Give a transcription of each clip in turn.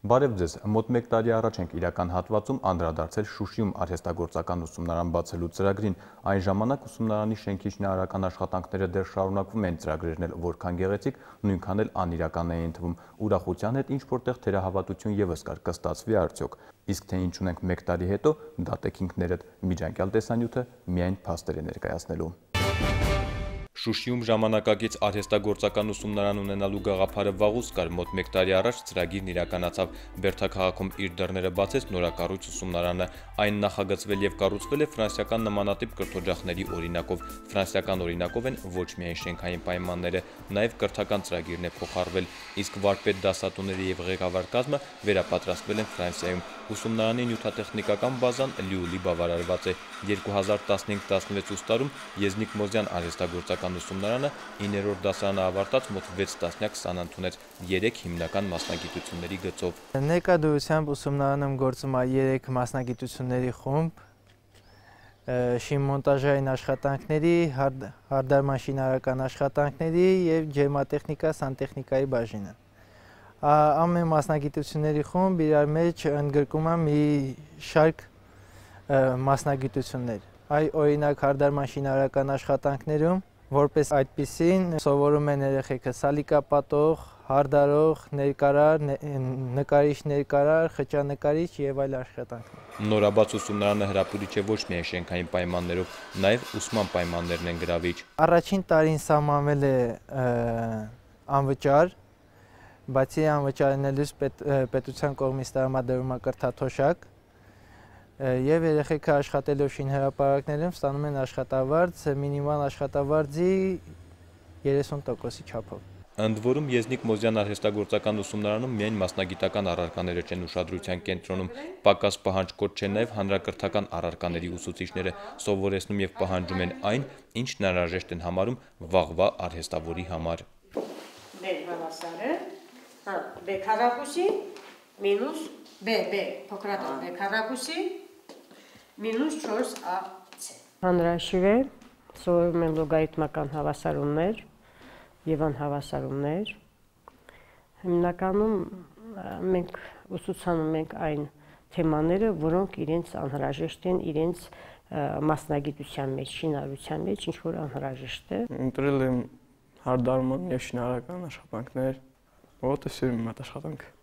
Բարև ձեզ, մոտ 1 տարի առաջ ենք իրական հատվածում անդրադարձել Շուշիում արհեստագործական ուսումնարան բացելու ծրագրին, այն ժամանակ ուսումնարանի շենքի շինարարական աշխատանքները դեռ շարունակվում են, ծրագրերն էլ որքան գեղեցիկ, նույնքան էլ անիրական էին թվում, ուրախության հետ ինչ-որտեղ թերահավատություն ևս կար, կստացվի արդյոք, իսկ թե ինչ ունենք 1 տարի հետո, դատեք ինքներդ, միջանկյալ տեսանյութը միայն փաստեր է ներկայացնելու։ Շուշիում ժամանակակից արհեստագործական ուսումնարան ունենալու գաղափարը վաղուց կար, մոտ 1 տարի առաջ ծրագիրն իրականացավ, Բերդաքաղաքում իր դռները բացեց նորակառույց ուսումնարանը, այն նախագծվել եւ կառուցվել է ֆրանսիական նմանատիպ կրթօջախների օրինակով, ֆրանսիական օրինակով են ոչ միայն շենքային պայմանները, նաեւ կրթական ծրագիրն է փոխառվել, իսկ վարպետ դասատուները եւ ղեկավար կազմը վերապատրաստվել են Ֆրանսիայում, ուսումնարանի նյութատեխնիկական բազան լիովին բավարարված է, 2015-16 ուստարում Եզնիկ Մոզյան արհեստագործական ուսումնարանը 9-րդ դասարանը ավարտած մոտ 6 տասնյակ սանանթ ուներ 3 հիմնական մասնագիտությունների գծով։ Ներկայությամբ ուսումնարանում գործում է 3 մասնագիտությունների խումբ, շինմոնտաժային աշխատանքների, հարդարման շինարարական աշխատանքների եւ ջերմատեխնիկա, սանտեխնիկայի բաժինը։ Ամեն մասնագիտությունների խումբ իրար մեջ ընդգրկում է մի շարք մասնագիտություններ։ Օրինակ հարդարման շինարարական աշխատանքներում որպես այդպիսին սովորում են երեխեքը սալիկապատող, հարդարող, ներկարար, նկարիչ ներկարար, խճանկարիչ եւ այլ աշխատանքներ։ Նորաբաց ուսումնարանը հրապուրիչ է ոչ միայն շենքային պայմաններով, նաեւ ուսման պայմաններն են գրավիչ։ Առաջին տարին սահմանվել է անվճար, բացի անվճարելուց պետության կողմից տրամադրվում է կրթաթոշակ եւ երեխեքը աշխատելով շինհրապարակներում ստանում են աշխատավարձ, մինիմալ աշխատավարձի 30%-ի չափով։ Ընդ որում Եզնիկ Մոզյան արհեստագործական ուսումնարանում միայն մասնագիտական առարկաները չեն ուշադրության կենտրոնում, պակաս պահանջկոտ չեն նաեւ հանրակրթական առարկաների ուսուցիչները, սովորեցնում եւ պահանջում են այն, ինչն անհրաժեշտ են համարում վաղվա արհեստավորի համար։ B քառակուսի մինուս B փոքրատան B քառակուսի մինուս 4AC։ Հանրահաշիվ է, սովորում են լոգարիթմական հավասարումներ եւ անհավասարումներ։ Հիմնականում մենք ուսուցանում ենք այն թեմաները, որոնք իրենց անհրաժեշտ են իրենց մասնագիտության մեջ, շինարարության մեջ, ինչ որ անհրաժեշտ է։ Ընտրել եմ հարդարման եւ շինարարական աշխատանքներ, որտեղ սիրում եմ այդ աշխատանքը։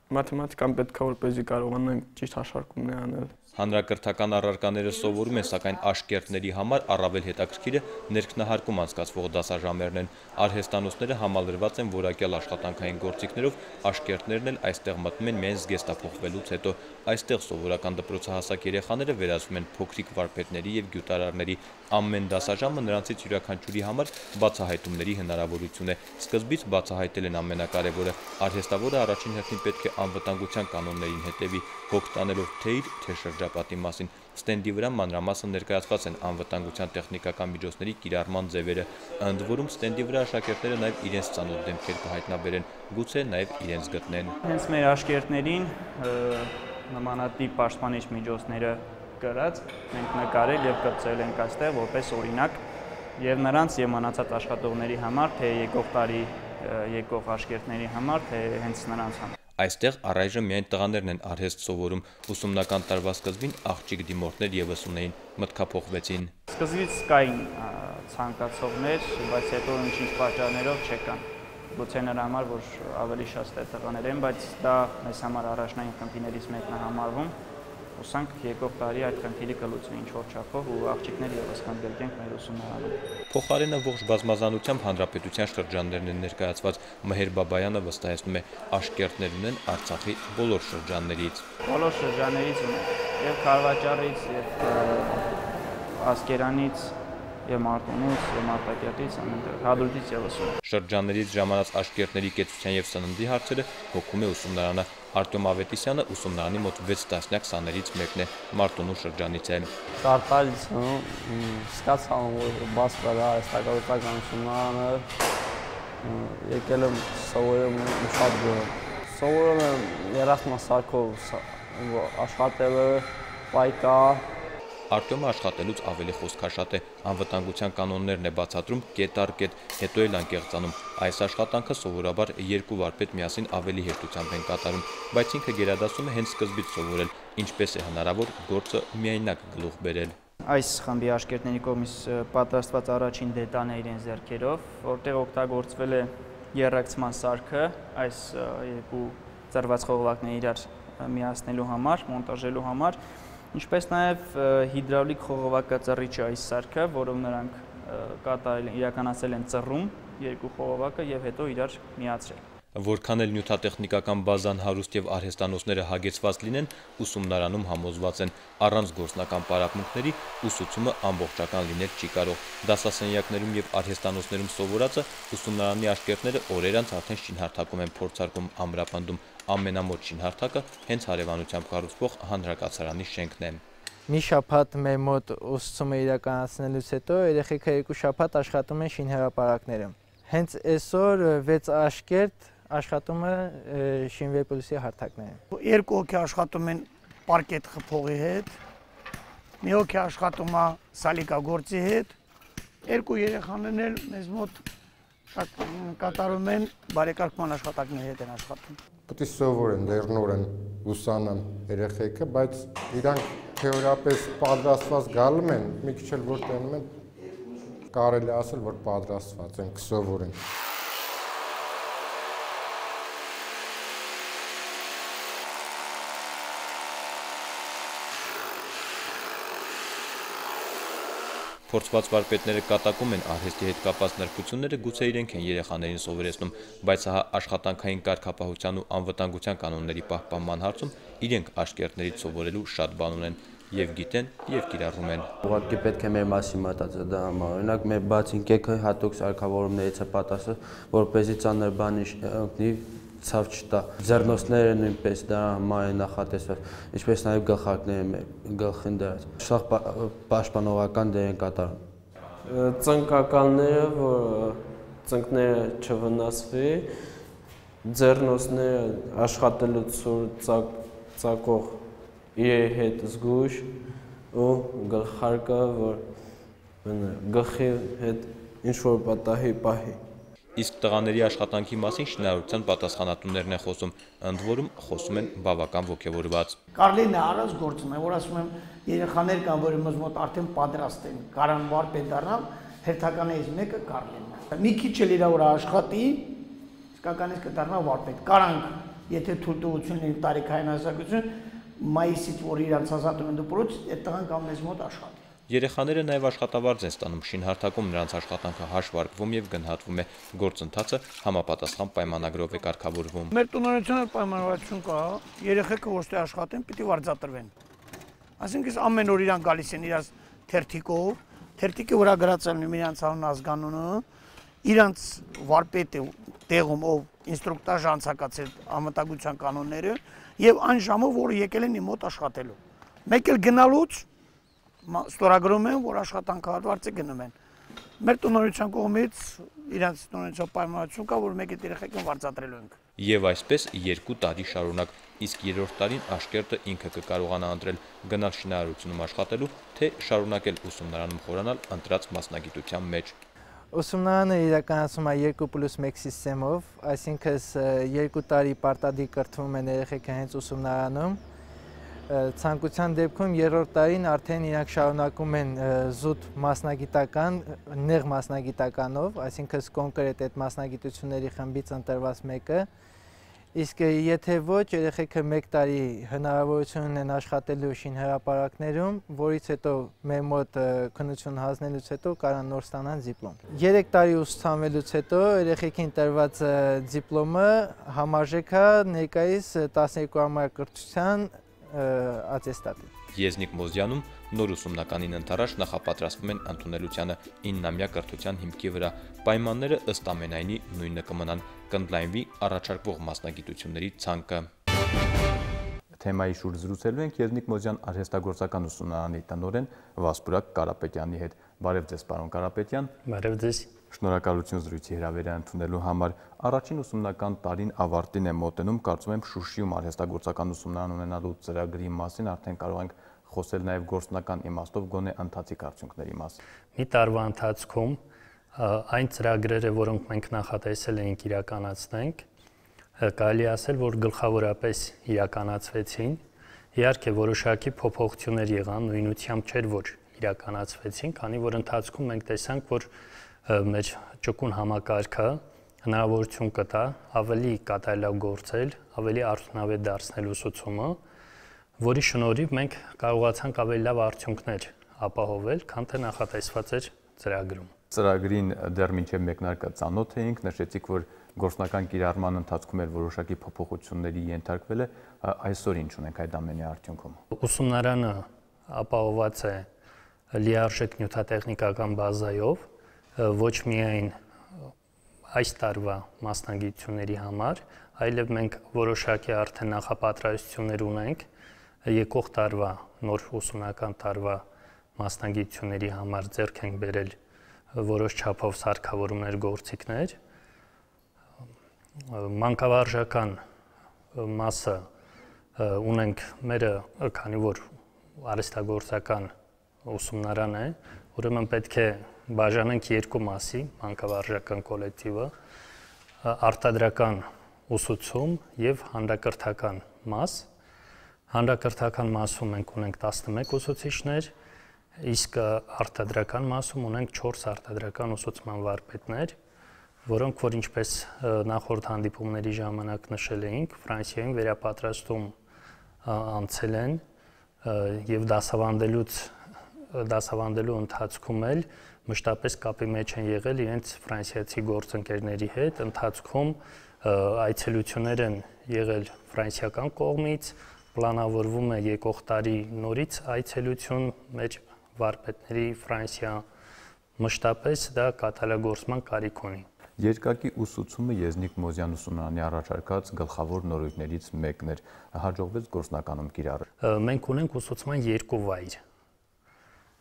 Մաթեմատիկան պետք է որպեսզի կարողանամ ճիշտ հաշվարկումներ անել։ Հանրակրթական առարկաները սովորում են, սակայն աշկերտների համար առավել հետաքրքիրը ներքնահարկում անցկացվող դասաժամերն են։ Արհեստանոցները համալրված են որակյալ աշխատանքային գործիքներով, աշկերտներն էլ այստեղ մտնում են միայն զգեստափոխվելուց հետո։ Այստեղ սովորական դպրոցահասակ երեխաները վերածվում են փոքրիկ վարպետների եւ գյուտարարների։ Ամեն դասաժամը նրանցից յուրաքանչյուրի համար բացահայտումների հնարավորություն է։ Սկզբից բացահայտել են ամենակարևորը։ Արհեստավորը առաջին հերթին պետք է անվտանգության կանոններին հետևի, հոգ տանելով թե իր, թե շրջապատի մասին։ Ստենդի վրա մանրամասն ներկայացված են անվտանգության տեխնիկական միջոցների կիրառման ձևերը։ Ընդ որում ստենդի վրա աշակերտները նաև իրենց ծանոթ դեմքեր կհայտնաբերեն, գուցե նաև իրենց գտնեն։ Հենց մեր աշակերտներին նմանատիպ պաշտպանիչ միջոցները կրած մենք նկարել եւ կրծել ենք այստեղ որպես օրինակ եւ նրանց եւ մնացած աշխատողների համար, թե եկող տարի եկող աշակերտների համար, թե հենց նրանց համար։ Այստեղ առայժմ միայն տղաներն են արհեստ սովորում, ուսումնական տարվա սկզբին աղջիկ դիմորդներ ևս ունեին, մտքափոխվեցին։ Սկզբից կային ցանկացողներ, բայց հետո ինչ-ինչ պատճառներով չեկան։ Գուցե նրա համար, որ ավելի շատ տղաներ են, բայց դա մեզ համար առաջնային խնդիրներից մեկն է համարվում։ Ուսանք եկող տարի այդ խնդիրը կլուծվի ինչ-որ չափով ու աղջիկներ ևս կընդգրկենք մեր ուսումնարանում։ Փոխարենը ողջ բազմազանությամբ հանրապետության շրջաններն են ներկայացված։ Մհեր Բաբայանը վստահեցնում է, աշկերտներ ունեն Արցախի բոլոր շրջաններից։ Բոլոր շրջաններից ունեն, եւ Քարվաճառից, եւ Ասկերանից, եւ Մարտունից, եւ Մարտակերտից, ամենտեղ Հադրութից ևս ունեն։ Շրջաններից ժամանած աշկերտների կեցության եւ սննդի հարցերը հոգում է ուսումնարանը։ Արտյոմ Ավետիսյանը ուսումնարանի մոտ 6 տասնյակ սաներից մեկն է, Մարտունու շրջանից է։ Կարտալից սկացան, որ բաց կրա արհեստագործական ուսումնարանը, եկել եմ սովորում շատ գոհ։ Սովորում եմ երախտմասարքով աշխատելը, պայքա։ Արտյոմը աշխատելուց ավելի խոսքաշատ է, անվտանգության կանոններն է բացատրում կետ առ կետ, հետո էլ անկեղծանում։ Այս աշխատանքը սովորաբար երկու վարպետ միասին ավելի հեշտությամբ են կատարում, բայց ինքը գերադասում է հենց սկզբից սովորել, ինչպես է հնարավոր գործը միայնակ գլուխ բերել։ Այս խմբի աշկերտների կողմից պատրաստված առաջին դետալն է իրեն ձեռքերով, որտեղ օգտագործվել է եռակցման սարքը, այս երկու ծրված խողովակները իրար միացնելու համար, մոնտաժելու համար, ինչպես նաև հիդրավլիկ խողովակածռիչ է այս սարքը, որով նրանք իրականացել են ծռում երկու խողովակը եւ հետո իրար միացրել։ Որքան էլ նյութատեխնիկական բազան հարուստ եւ արհեստանոցները հագեցված լինեն, ուսումնարանում համոզված են, առանց գործնական պարապմունքների ուսուցումը ամբողջական լինել չի կարող։ Դասասենյակներում եւ արհեստանոցներում սովորածը ուսումնարանի աշկերտները օրեր անց արդեն շինհարթակում են փորձարկում ամրապնդում։ Ամենամոտ շինհարթակը հենց հարևանությամբ կառուցվող հանրակացարանի շենքն է։ Մի շաբաթ մեր մոտ ուսուցումը իրականացնելուց հետո երեխեքը 2 շաբաթ աշխատում են շինհրապարակներում։ Հենց այսօր 6 աշկերտ աշխատում է շինվեպլուսի հարթակներում։ 2 հոգի աշխատում են պարկետ խփողի հետ, մի հոգի աշխատում է սալիկագործի հետ, 2 երեխաներն էլ մեզ մոտ կատարում են բարեկարգման աշխատանքների հետ են աշխատում։ Պետք է սովորեն, լեռնորեն ուսանան երեխեքը, բայց իրանք թեորիապես պատրաստված գալու են, մի քիչ էլ որ տենում են, կարելի ասել, որ պատրաստված են, կսովորեն։ Փորձված վարպետները կատակում են արհեստի հետ կապված նրբությունները, գուցե իրենք են երեխաներին սովորեցնում, բայց հա աշխատանքային կարգապահության ու անվտանգության կանոնների պահպանման հարցում իրենք աշկերտներից սովորելու շատ բան ունեն, եւ գիտեն, եւ կիրառում են։ Ուղղակի պետք է մեր մասին մտածել դա համար։ Օրինակ մեր բացին կեքը հատուկ սարքավորումներից է պատասխան, որպեսզի ծանր բանի ընկնի ցավ չտա։ Ձեռնոցները նույնպես դա համար է նախատեսված, ինչպես նաև գլխարկները գլխին դրած։ Սա պաշտպանողական դեր են կատարում։ Ծնկականները, որ ծնկները չվնասվի, ձեռնոցները աշխատելուց ծակող իր հետ զգույշ ու գլխարկը, որ գլխի հետ ինչ-որ պատահի պահի։ Իսկ տղաների աշխատանքի մասին շինարարության պատասխանատուներն են խոսում, ընդ որում խոսում են բավական ոգևորված։ Կարլինը առանց գործում է, որ ասում եմ երեխաներ կան, որ մեզ մոտ արդեն պատրաստ են, կարան վարպետ դառնալ, հերթականից մեկը Կարլինն է։ Մի քիչ էլ իր վրա աշխատի, իսկականից կդառնա վարպետ։ Կարանք, եթե թույլտվություն լինի տարիքային հասակություն, մայիսից որ իրանց ազատում են դպրոց, այդ տղան կամ մեզ մոտ աշխատի։ Երեխաները նաև աշխատավարձ են ստանում, շինհարթակում նրանց աշխատանքը հաշվարկվում եւ գնահատվում է, գործընթացը համապատասխան պայմանագրով է կարգավորվում։ Մեր տնօրինությունը պայմանավորվածություն կա, երեխեքը ոչ թե աշխատեն, պիտի վարձատրվեն։ Այսինքն ամեն օր իրան գալիս են իրաց թերթիկով, թերթիկի վրա գրած են իրանց անուն ազգանունը, իրանց վարպետը տեղում ով ինստրուկտաժ անցկացրել անվտանգության կանոնները եւ այն ժամը, որը եկել են իմ մոտ աշխատելու։ Մեկ էլ գնալուց ստորագրում են, որ աշխատանքը հատվածը գնում են։ Մեր տնօրինության կողմից իրանց տնօրինության պայմանավորություն կա, որ մեկ այդ երեխեքին վարձատրելու ենք։ Եվ այսպես 2 տարի շարունակ, իսկ 3-րդ տարին աշկերտը ինքը կկարողանա ընտրել գնալ շինարարությունում աշխատելու, թե շարունակել ուսումնարանում խորանալ ընտրած մասնագիտության մեջ։ Ուսումնարանը իրականացում է 2+1 սիստեմով, այսինքն 2 տարի պարտադիր կրթվում են երեխեքը հենց ուսումնարանում։ Ցանկության դեպքում 3-րդ տարին արդեն իրանք շարունակում են զուտ մասնագիտական, նեղ մասնագիտականով, այսինքն կոնկրետ այդ մասնագիտությունների խմբից ընտրված մեկը, իսկ եթե ոչ, երեխեքը 1 տարի հնարավորություն ունեն աշխատելու շինհրապարակներում, որից հետո մեր մոտ քննություն հանձնելուց հետո կարան նոր ստանան դիպլոմ։ 3 տարի ուսուցանվելուց հետո երեխեքին տրված դիպլոմը համարժեք է ներկայիս 12 ամյա կրթության ատեստատի։ Եզնիկ Մոզյանում նոր ուսումնականին ընթരാճ նախապատրաստվում են ընդունելությանը 9-ամյա կրթության հիմքի վրա։ Պայմանները ըստ ամենայնի նույնը կմնան, կընդլայնվի առաջարկվող մասնագիտությունների ցանկը։ Թեմայի շուրջ զրուցելու ենք Եզնիկ Մոզյան արհեստագործական ուսումնարանի տնօրեն Վասպուրակ Կարապետյանի հետ։ Բարև ձեզ, պարոն Կարապետյան։ Բարև ձեզ։ Շնորհակալություն զրույցի հրավերը ընդունելու համար։ Առաջին ուսումնական տարին ավարտին է մոտենում, կարծում եմ Շուշիում արհեստագործական ուսումնարան ունենալու ծրագրի մասին արդեն կարող ենք խոսել նաև գործնական իմաստով գոնե ընթացիկ արդյունքների մասին։ Մի տարվա ընթացքում այն ծրագրերը, որոնք մենք նախատեսել էինք իրականացնենք, կարելի ասել, որ գլխավորապես իրականացվեցին։ Իհարկե որոշակի փոփոխություններ եղան, նույնությամբ չէր, որ իրականացվեցին, քանի որ ընթացքում մենք տեսանք, որ մեր ճկուն համակարգը հնարավորություն կտա ավելի կատարելագործել, ավելի արդյունավետ դարձնել ուսուցումը, որի շնորհիվ մենք կարողացանք ավելի լավ արդյունքներ ապահովել, քան թե նախատեսված էր ծրագրում։ Ծրագրին դեռ մինչև մեկնարկը ծանոթ էինք, նշեցիք, որ գործնական կիրառման ընթացքում էր որոշակի փոփոխությունների ենթարկվել է, այսօր ինչ ունենք այդ ամենի արդյունքում։ Ուսումնարանը ապահոված է լիարժեք նյութատեխնիկական բազայով, ոչ միայն այս տարվա մասնագիտությունների համար, այլև մենք որոշակի արդեն նախապատրաստություններ ունենք եկող տարվա նոր ուսումնական տարվա մասնագիտությունների համար ձեռք ենք բերել որոշ չափով սարքավորումներ, գործիքներ։ Մանկավարժական մասը ունենք մերը, քանի որ արհեստագործական ուսումնարան է, ուրեմն պետք է բաժանենք երկու մասի, մանկավարժական կոլեկտիվը, արտադրական ուսուցում եւ հանրակրթական մաս։ Հանրակրթական մասում մենք ունենք 11 ուսուցիչներ, իսկ արտադրական մասում ունենք 4 արտադրական ուսուցման վարպետներ, որոնք որ ինչպես նախորդ հանդիպումների ժամանակ նշել էինք, Ֆրանսիայում վերապատրաստում անցել են եւ դասավանդելու ընթացքում էլ մշտապես կապի մեջ են եղել իրենց ֆրանսիացի գործընկերների հետ, ընթացքում այցելություններ են եղել ֆրանսիական կողմից, պլանավորվում է եկող տարի նորից այցելություն մեր վարպետների Ֆրանսիա, մշտապես դա կատարելագործման կարիք ունի։ Երկակի ուսուցումը Եզնիկ Մոզյան ուսումնարանի առաջարկած գլխավոր նորույթներից մեկն էր, հաջողվեց գործնականում կիրառել։ Մենք ունենք ուսուցման երկու վայր։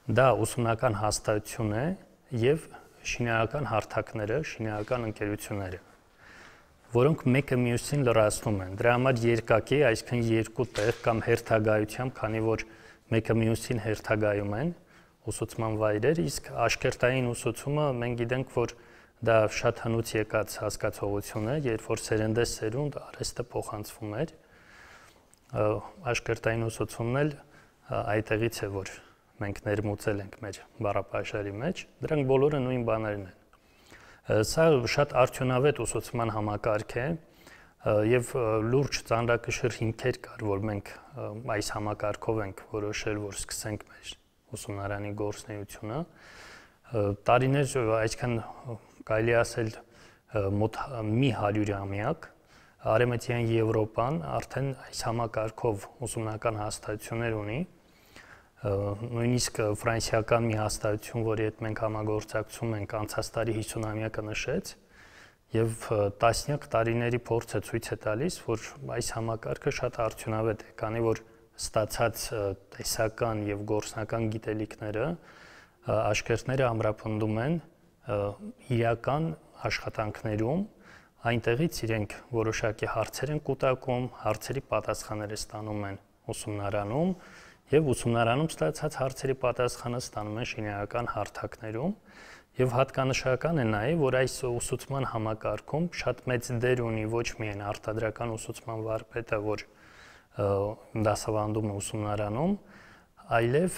Դա ուսումնական հաստատություն է եւ շինարարական հարթակները, շինարարական ընկերությունները, որոնք մեկը մյուսին լրացնում են։ Դրա համար երկակի, այսինքն երկու տեղ կամ հերթագայությամբ, քանի որ մեկը մյուսին հերթագայում են ուսուցման վայրեր, իսկ աշկերտային ուսուցումը մենք գիտենք, որ դա շատ հնուց եկած հասկացողություն է, երբ որ սերնդես սերունդ արհեստը փոխանցվում էր, աշկերտային ուսուցումն էլ այդտեղից է, որ մենք ներմուծել ենք մեր բառապաշարի մեջ, դրանք բոլորը նույն բաներն են։ Սա շատ արդյունավետ ուսուցման համակարգ է եւ լուրջ ծանրակշիռ հիմքեր կար, որ մենք այս համակարգով ենք որոշել, որ սկսենք մեր ուսումնարանի գործունեությունը։ Տարիներ, այսքան կարելի ասել մոտ մի 100-ամյակ Արևմտյան Եվրոպան արդեն այս համակարգով ուսումնական հաստատություններ ունի, նույնիսկ ֆրանսիական մի հաստատություն, որի հետ մենք համագործակցում ենք, անցած տարի 50-ամյակը նշեց, եւ տասնյակ տարիների փորձը ցույց է տալիս, որ այս համակարգը շատ արդյունավետ է, քանի որ ստացած տեսական եւ գործնական գիտելիքները աշկերտները ամրապնդում են իրական աշխատանքներում, այնտեղից իրենք որոշակի հարցեր են կուտակում, հարցերի պատասխանները ստանում են ուսումնարանում եւ ուսումնարանում ստացած հարցերի պատասխանը ստանում են շինարարական հարթակներում եւ հատկանշական է նաեւ, որ այս ուսուցման համակարգում շատ մեծ դեր ունի ոչ միայն արտադրական ուսուցման վարպետը, որ դասավանդում է ուսումնարանում, այլև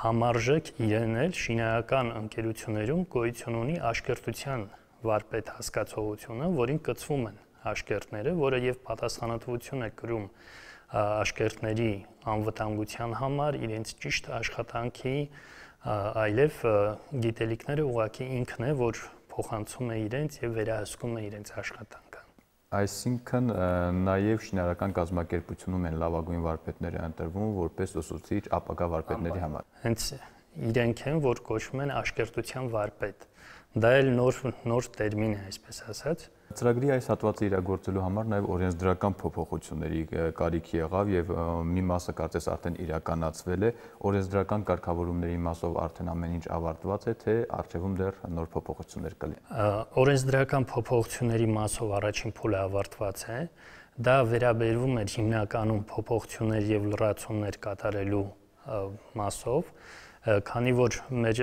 համարժեք իրեն էլ շինարարական ընկերություններում գոյություն ունի աշկերտության վարպետ հասկացողությունը, որին կցվում են աշկերտները, որը եւ պատասխանատվություն է կրում աշկերտների անվտանգության համար, իրենց ճիշտ աշխատանքի, այլև գիտելիքները ուղղակի ինքն է, որ փոխանցում է իրենց եւ վերահսկում է իրենց աշխատանքը։ Այսինքն նաև շինարարական կազմակերպությունում են լավագույն վարպետները ընտրվում որպես ուսուցիչ ապագա վարպետների համար։ Հենց իրենք են, որ կոչվում են աշկերտության վարպետ։ Դա էլ նոր տերմին է, այսպես ասած։ Ծրագրի այս հատվածը իրագործելու համար նաև օրենսդրական փոփոխությունների կարիք եղավ եւ մի մասը կարծես արդեն իրականացվել է, օրենսդրական կարգավորումների մասով արդեն ամեն ինչ ավարտված է, թե առջևում դեռ նոր փոփոխություններ կլինեն։ Օրենսդրական փոփոխությունների մասով առաջին փուլը ավարտված է, դա վերաբերվում է հիմնականում փոփոխություններ եւ լրացումներ կատարելու մասով, քանի որ մեր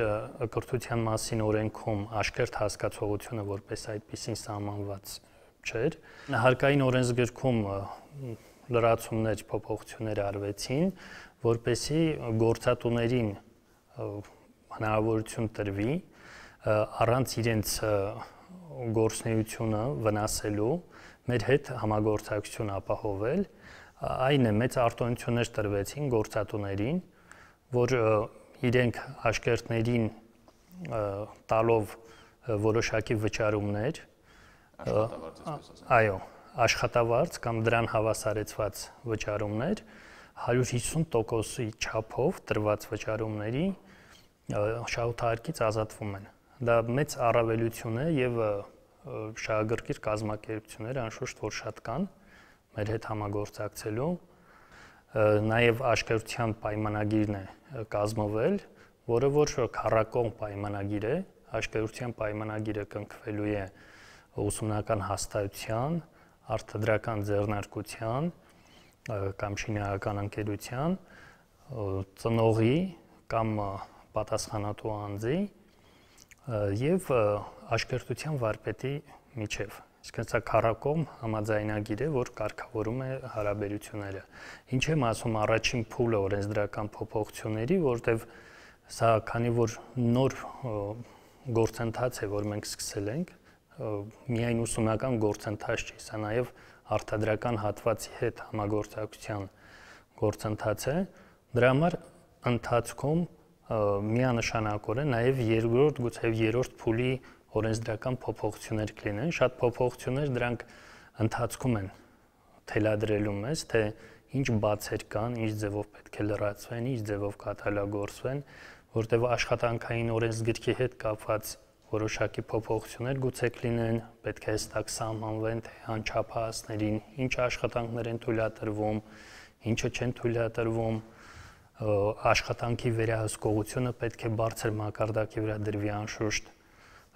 կրթության մասին օրենքում աշկերտ հասկացողությունը որպես այդպեսին սահմանված չէր, հարկային օրենսգրքում լրացումներ, փոփոխություններ արվեցին, որպեսզի գործատուներին հնարավորություն տրվի առանց իրենց գործունեությունը վնասելու մեր հետ համագործակցություն ապահովել, այն է մեծ արտոնություններ տրվեցին գործատուներին, որ իրենք աշկերտներին տալով որոշակի վճարումներ, այո, աշխատավարձ կամ դրան հավասարեցված վճարումներ 150%-ի չափով տրված վճարումների շահութարկից ազատվում են։ Դա մեծ առավելություն է եւ շահագրգիռ կազմակերպությունները անշուշտ որ շատ կան մեր հետ համագործակցելու, նաեւ աշկերտության պայմանագիրն է կազմվել, որը որ քառակողմ պայմանագիր է, աշկերտության պայմանագիրը կնքվելու է ուսումնական հաստատության, արտադրական ձեռնարկության կամ շինարարական ընկերության ծնողի կամ պատասխանատու անձի եւ աշկերտության վարպետի միջև։ Իսկ սա քառակողմ համաձայնագիր է, որ կարգավորում է հարաբերությունները։ Ինչ եմ ասում առաջին փուլը օրենսդրական փոփոխությունների, որտեղ սա քանի որ նոր գործընթաց է, որ մենք սկսել ենք, միայն ուսումնական գործընթաց չի, սա նաեւ արտադրական հատվածի հետ համագործակցության գործընթաց է, դրա համար ընթացքում միանշանակորեն նաև երկրորդ, գուցե երրորդ փուլի օրենսդրական փոփոխություններ կլինեն, շատ փոփոխություններ դրանք ընթացքում են թելադրելու մեզ, թե ինչ բացեր կան, ինչ ձևով պետք է լրացվեն, ինչ ձևով կատարելագործվեն, որտեղ աշխատանքային օրենսգրքի հետ կապված որոշակի փոփոխություններ գուցե կլինեն, պետք է հստակ սահմանվեն, թե անչափահասներին ինչ աշխատանքներ են թույլատրվում, ինչը չեն թույլատրվում, աշխատանքի վերահսկողությունը պետք է բարձր մակարդակի վրա դրվի անշուշտ,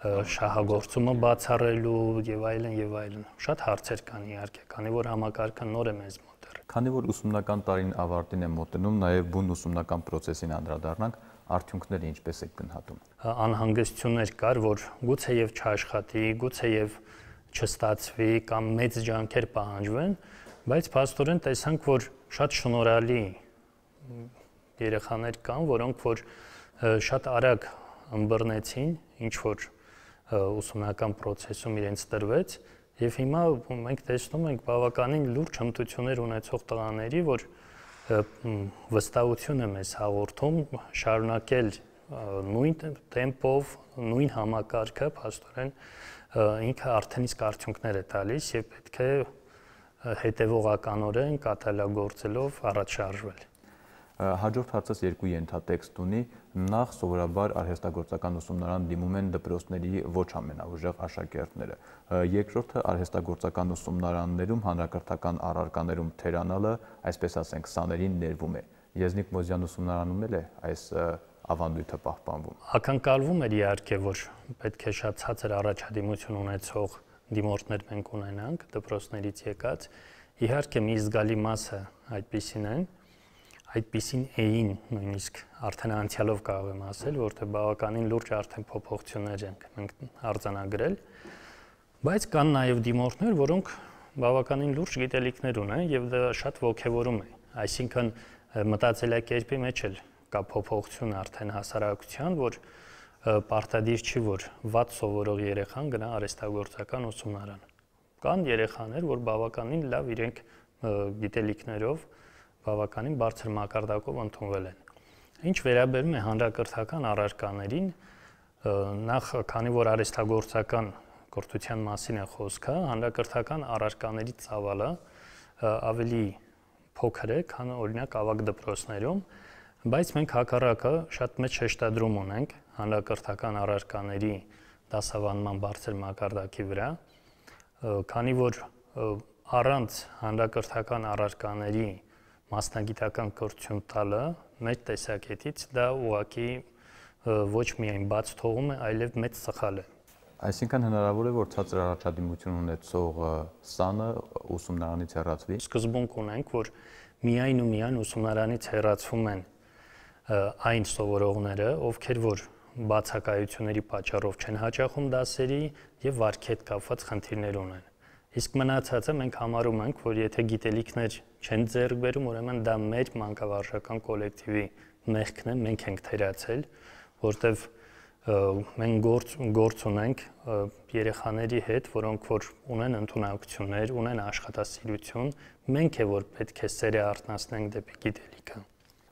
շահագործումը բացառելու եւ այլն եւ այլն։ Շատ հարցեր կան իհարկե, քանի որ համակարգը նոր է մեզ մոտ։ Քանի որ ուսումնական տարին ավարտին է մոտենում, նաեւ բուն ուսումնական process-ին անդրադառնանք, արդյունքները ինչպես եք գնահատում։ Անհանգստություններ կար, որ գուցեև չաշխատի, գուցեև չստացվի կամ մեծ ջանքեր պահանջվեն, բայց փաստորեն տեսանք, որ շատ շնորհալի երեխաներ կան, որոնք որ շատ արագ ըմբռնեցին, ինչ որ ուսումնական process-ում իրենց տրվեց, եւ հիմա մենք տեսնում ենք բավականին լուրջ հմտություններ ունեցող տղաների, որ վստահություն է մեզ հաղորդում շարունակել նույն տեմպով, նույն համակարգը, փաստորեն ինքը արդեն իսկ արդյունքներ է տալիս եւ պետք է հետեւողականորեն կատարելագործելով առաջ շարժվել։ Հաջորդ հարցս երկու ենթատեքստ ունի, նախ սովորաբար արհեստագործական ուսումնարան դիմում են դպրոցների ոչ ամենաուժեղ աշակերտները, երկրորդը արհեստագործական ուսումնարաններում հանրակրթական առարկաներում թերանալը, այսպես ասենք, սաներին ներվում է։ Եզնիկ Մոզյան ուսումնարանում էլ է այս ավանդույթը պահպանվում։ Ակնկալվում էր իհարկե, որ պետք է շատ ցածր առաջադիմություն ունեցող դիմորդներ մենք ունենանք դպրոցներից եկած, իհարկե մի զգալի մասը այդպիսին են, այդպիսին էին նույնիսկ արդեն անցյալով կարող եմ ասել, որտեղ բավականին լուրջ արդեն փոփոխություններ ենք մենք արձանագրել, բայց կան նաև դիմորդներ, որոնք բավականին լուրջ գիտելիքներ ունեն եւ դա շատ ոգևորում է, այսինքն մտածելակերպի մեջ էլ կա փոփոխություն արդեն հասարակության, որ պարտադիր չի, որ վատ սովորող երեխան գնա արհեստագործական ուսումնարան։ Կան երեխաներ, որ բավականին լավ իրենք գիտելիքներով բավականին բարձր մակարդակով ընդունվել են։ Ինչ վերաբերում է հանրակրթական առարկաներին, նախ քանի որ արհեստագործական կրթության մասին է խոսքը, հանրակրթական առարկաների ծավալը ավելի փոքր է, քան օրինակ ավագ դպրոցներում, բայց մենք հակառակը շատ մեծ շեշտադրում ունենք հանրակրթական առարկաների դասավանդման բարձր մակարդակի վրա, քանի որ առանց հանրակրթական առարկաների մասնագիտական կրթություն տալը մեր տեսակետից դա ուղղակի ոչ միայն բաց թողում է, այլև մեծ սխալ է։ Այսինքն հնարավոր է, որ ցածր առաջադիմություն ունեցող սանը ուսումնարանից հեռացվի։ Սկզբունք ունենք, որ միայն ու միայն ուսումնարանից հեռացվում են այն սովորողները, ովքեր որ բացակայությունների պատճառով չեն հաճախում դասերի եւ վարքի հետ կապված խնդիրներ ունեն։ Իսկ մնացածը մենք համարում ենք, որ եթե գիտելիքներ չեն ձեռք բերում, ուրեմն դա մեր մանկավարժական կոլեկտիվի մեղքն է, մենք ենք թերացել, որտեվ մենք գործ ունենք երեխաների հետ, որոնք որ ունեն ընդունակություններ, ունեն աշխատասիրություն, մենք է որ պետք է սերը արթնացնենք դեպի գիտելիքը։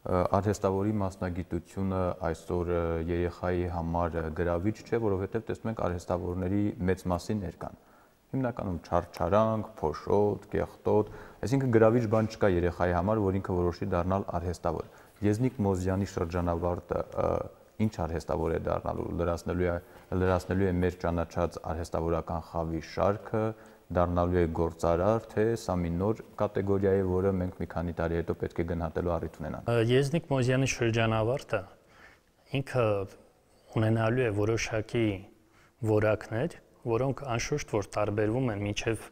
Արհեստավորի մասնագիտությունը այսօր երեխայի համար գրավիչ չէ, որովհետև տեսնում ենք արհեստավորների մեծ մասին ներկան։ Հիմնականում չարչարանք, փոշոտ, կեղտոտ, այսինքն գրավիչ բան չկա երեխայի համար, որ ինքը որոշի դառնալ արհեստավոր։ Եզնիկ Մոզյանի շրջանավարտը ինչ արհեստավոր է դառնալու, լրացնելու է մեր ճանաչած արհեստավորական խավի շարքը, դառնալու է գործարար, թե սա մի նոր կատեգորիա է, որը մենք մի քանի տարի հետո պետք է գնահատելու առիթ ունենանք։ Եզնիկ Մոզյանի շրջանավարտը ինքը ունենալու է որոշակի որակներ, որոնք անշուշտ որ տարբերվում են մինչև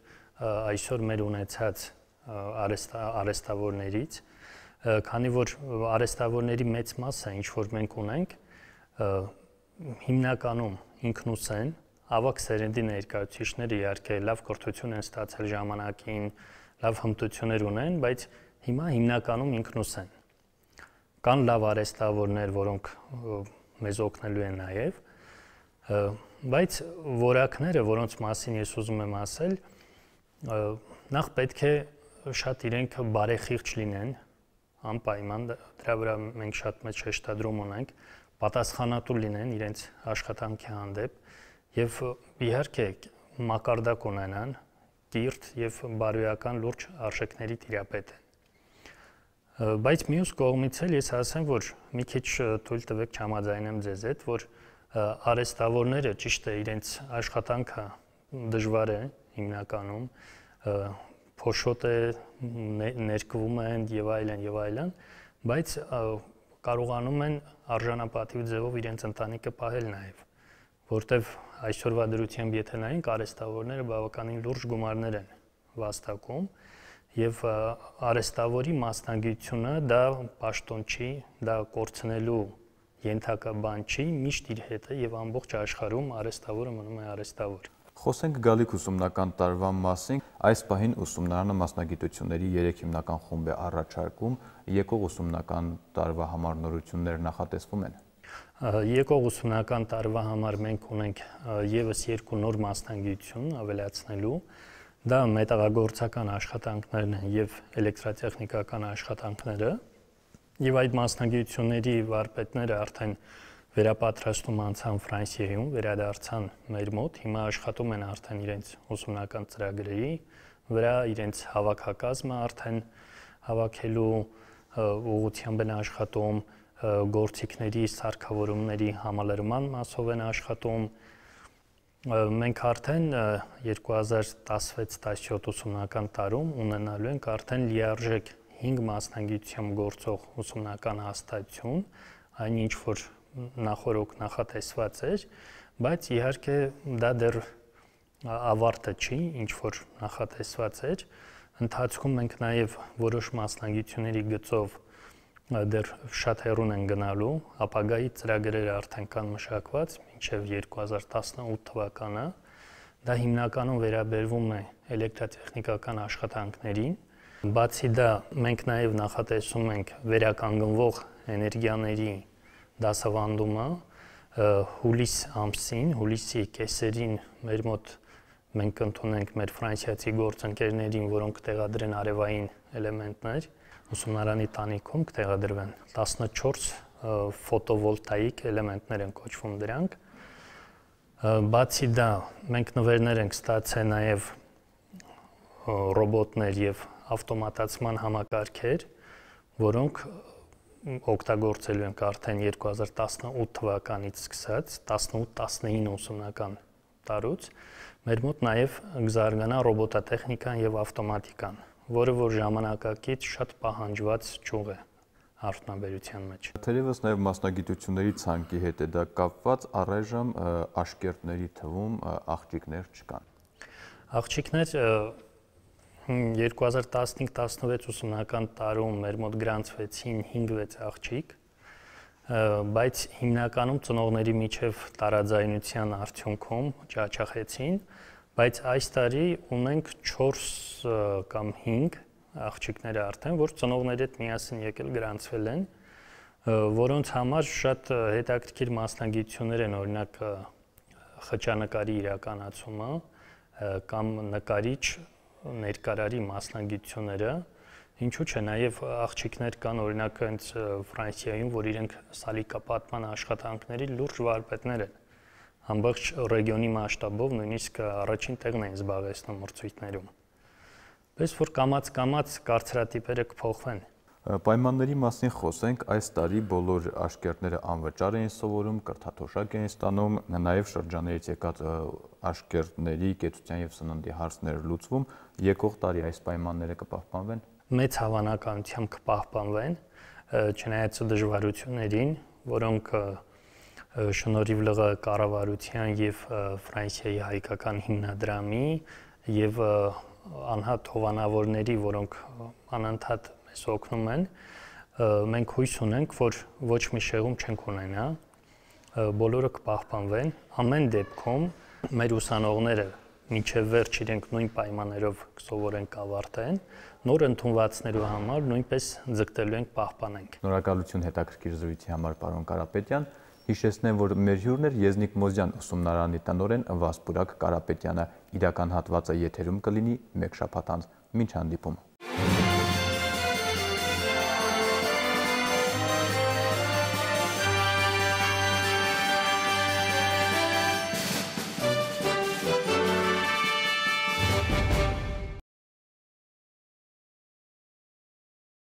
այսօր մեր ունեցած արհեստավորներից, քանի որ արհեստավորների մեծ մասը, ինչ որ մենք ունենք, հիմնականում ինքնուսեն, ավակ սերնդի ներկայացուցիչները իհարկե լավ կրթություն են ստացել ժամանակին, լավ հմտություններ ունեն, բայց հիմա հիմնականում ինքնուսեն։ Կան լավ արհեստավորներ, որոնք մեզ օգնելու են նաև, բայց որակները, որոնց մասին ես ուզում եմ ասել, նախ պետք է շատ իրենք բարեխիղճ լինեն, անպայման դրա վրա մենք շատ մեծ շեշտադրում ունենք, պատասխանատու լինեն իրենց աշխատանքի հանդեպ եւ իհարկե մակարդակ ունենան, կիրթ եւ բարոյական լուրջ արժեքների տիրապետ են։ Բայց մյուս կողմից էլ ես ասեմ, որ մի քիչ թույլ տվեք չհամաձայնեմ ձեզ հետ, որ արհեստավորները ճիշտ է իրենց աշխատանքը դժվար է հիմնականում, փոշոտ է, ներկվում են եւ այլն, բայց կարողանում են արժանապատիվ ձևով իրենց ընտանիքը պահել նաեւ, որտեվ այսօրվա դրությամբ եթե նայենք արհեստավորները բավականին լուրջ գումարներ են վաստակում եւ արհեստավորի մասնագիտությունը դա պաշտոն չի, դա կորցնելու ենթակա բան չի, միշտ իր հետ է եւ ամբողջ աշխարհում արհեստավորը մնում է արհեստավոր։ Խոսենք գալիք ուսումնական տարվա մասին, այս պահին ուսումնարանը մասնագիտությունների 3 հիմնական խումբ է առաջարկում, եկող ուսումնական տարվա համար նորություններ նախատեսվում են։ Եկող ուսումնական տարվա համար մենք ունենք եւս 2 նոր մասնագիտություն ավելացնելու, դա մետաղագործական աշխատանքներն են եւ էլեկտրատեխնիկական աշխատանքները, եւ այդ մասնագիտությունների վարպետները արդեն վերապատրաստում անցան Ֆրանսիայում, վերադարձան մեր մոտ, հիմա աշխատում են արդեն իրենց ուսումնական ծրագրերի վրա, իրենց հավաքակազմը արդեն հավաքելու ուղղությամբ են աշխատում, գործիքների սարքավորումների համալրման մասով են աշխատում։ Մենք արդեն 2016-17 ուսումնական տարում ունենալու ենք արդեն լիարժեք 5 մասնագիտությամբ գործող ուսումնական հաստատություն, այն ինչ որ նախորոք նախատեսված էր, բայց իհարկե դա դեռ ավարտը չի, ինչ որ նախատեսված էր։ Ընթացքում մենք նաև որոշ մասնագիտությունների գծով դեռ շատ հեռուն են գնալու, ապագայի ծրագրերը արդեն կան մշակված մինչև 2018 թվականը։ Դա հիմնականում վերաբերվում է էլեկտրատեխնիկական աշխատանքներին։ Բացի դա, մենք նաև նախատեսում ենք վերականգնվող էներգիաների դասավանդումը հուլիս ամսին, հուլիսի կեսերին մեր մոտ մենք ընդունենք մեր ֆրանսիացի գործընկերներին, որոնք կտեղադրեն արևային էլեմենտներ, ուսումնարանի տանիքում կտեղադրվեն 14 ֆոտովոլտաիկ էլեմենտներ են կոչվում դրանք։ Բացի դա, մենք նվերներ ենք ստացել նաև ռոբոտներ եւ ավտոմատացման համակարգեր, որոնք օգտագործելու ենք արդեն 2018 թվականից սկսած, 18-19 ուսումնական տարուց, մեր մոտ նաև կզարգանա ռոբոտատեխնիկան եւ ավտոմատիկան, որը որ ժամանակակից շատ պահանջված ճյուղ է արդյունաբերության մեջ։ Թերևս նաև մասնագիտությունների ցանկի հետ է դա կապված, առայժմ աշկերտների թվում աղջիկներ չկան։ Աղջիկներ 2015-16 ուսումնական տարում մեր մոտ գրանցվեցին 5-6 աղջիկ, բայց հիմնականում ծնողների միջև տարաձայնության արդյունքում ճաճախեցին, բայց այս տարի ունենք 4 կամ 5 աղջիկներ արդեն, որ ծնողների հետ միասին եկել գրանցվել են, որոնց համար շատ հետաքրքիր մասնագիտություններ են, օրինակ խճանկարի իրականացումը կամ նկարիչ ներկարարի մասնագիտությունները, ինչու՞ չէ, նաև աղջիկներ կան, օրինակ հենց Ֆրանսիայում, որ իրենք սալիկապատման աշխատանքների լուրջ վարպետներ են, ամբողջ ռեգիոնի մասշտաբով նույնիսկ առաջին տեղն են զբաղեցնում մրցույթներում։ Պես որ կամաց-կամաց կարծրատիպերը կփոխվեն։ Պայմանների մասին խոսենք, այս տարի բոլոր աշկերտները անվճար էին սովորում, կրթաթոշակ էին ստանում, նաև շրջաններից եկած աշկերտների կեցության եւ սննդի հարցներ լուծվում, եկող տարի այս պայմանները կպահպանվեն։ Մեծ հավանականությամբ կպահպանվեն, չնայած դժվարություններին, որոնք շնորհիվ ԼՂ կառավարության եւ Ֆրանսիայի հայկական հիմնադրամի եւ անհատ հովանավորների, որոնք անընդհատ մեզ օգնում են, մենք հույս ունենք, որ ոչ մի շեղում չենք ունենա, բոլորը կպահպանվեն, ամեն դեպքում մեր ուսանողները մինչև վերջ իրենք նույն պայմաններով կսովորեն կավարտեն, նոր ընդունվածներու համար նույնպես ձգտելու ենք պահպանենք։ Շնորհակալություն հետաքրքիր զրույցի համար, պարոն Կարապետյան։ Հիշեցնեմ, որ մեր հյուրն էր Եզնիկ Մոզյան ուսումնարանի տնօրեն Վասպուրակ Կարապետյանը։ Իրական հատվածը եթերում կլինի մեկ շաբաթ անց։ Մինչ հանդիպում։